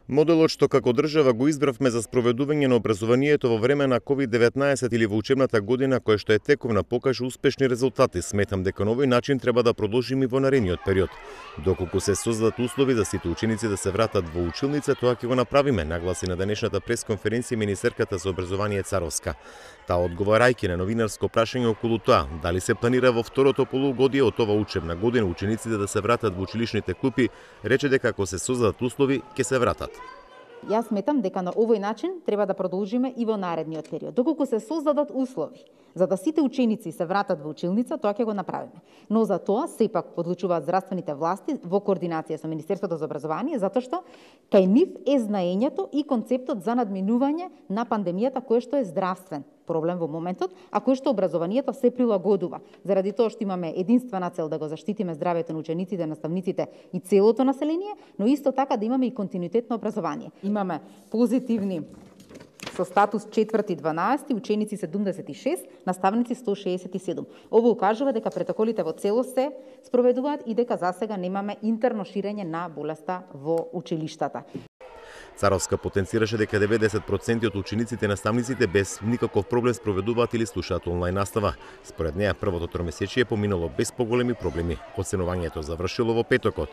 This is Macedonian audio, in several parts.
Моделот што како држава го избравме за спроведување на образованието во време на COVID-19 или во учебната година која што е тековна покажа успешни резултати. Сметам дека на овој начин треба да продолжиме и во наредниот период. Доколку се создадат услови за сите ученици да се вратат во училница, тоа ќе го направиме, нагласи на денешната пресконференција министерката за образование Царовска. Таа одговарајќи на новинарско прашање околу тоа дали се планира во второто полугодие од ова учебна година учениците да се вратат во училишните клупи, рече дека ако се создадат услови, ќе се вратат. Јас сметам дека на овој начин треба да продолжиме и во наредниот период. Доколку се создадат услови за да сите ученици се вратат во училница, тоа ќе го направиме. Но за тоа сепак одлучуваат здравствените власти во координација со Министерството за образование, затоа што кај нив е знаењето и концептот за надминување на пандемијата кој што е здравствен проблем во моментот, а кој што образованието се прилагодува. Заради тоа што имаме единствена цел да го заштитиме здравјето на учениците, наставниците и целото население, но исто така да имаме и континуитет на образование. Имаме позитивни со статус 4-12, ученици 76, наставници 167. Ово укажува дека претоколите во целост се спроведуваат и дека засега немаме интерно ширење на болеста во училиштата. Царовска потенцираше дека 90% од учениците и наставниците без никаков проблем спроведуваат или слушаат онлайн настава. Според неа, првото тромесечие поминало без поголеми проблеми. Оценувањето завршило во петокот,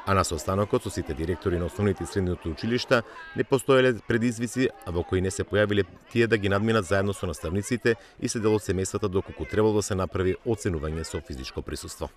а на состанокот со сите директори на основните и средните училишта не постоеле предизвици, во кои не се појавиле тие да ги надминат заедно со наставниците и се дел од семејствата доколку требало да се направи оценување со физичко присуство.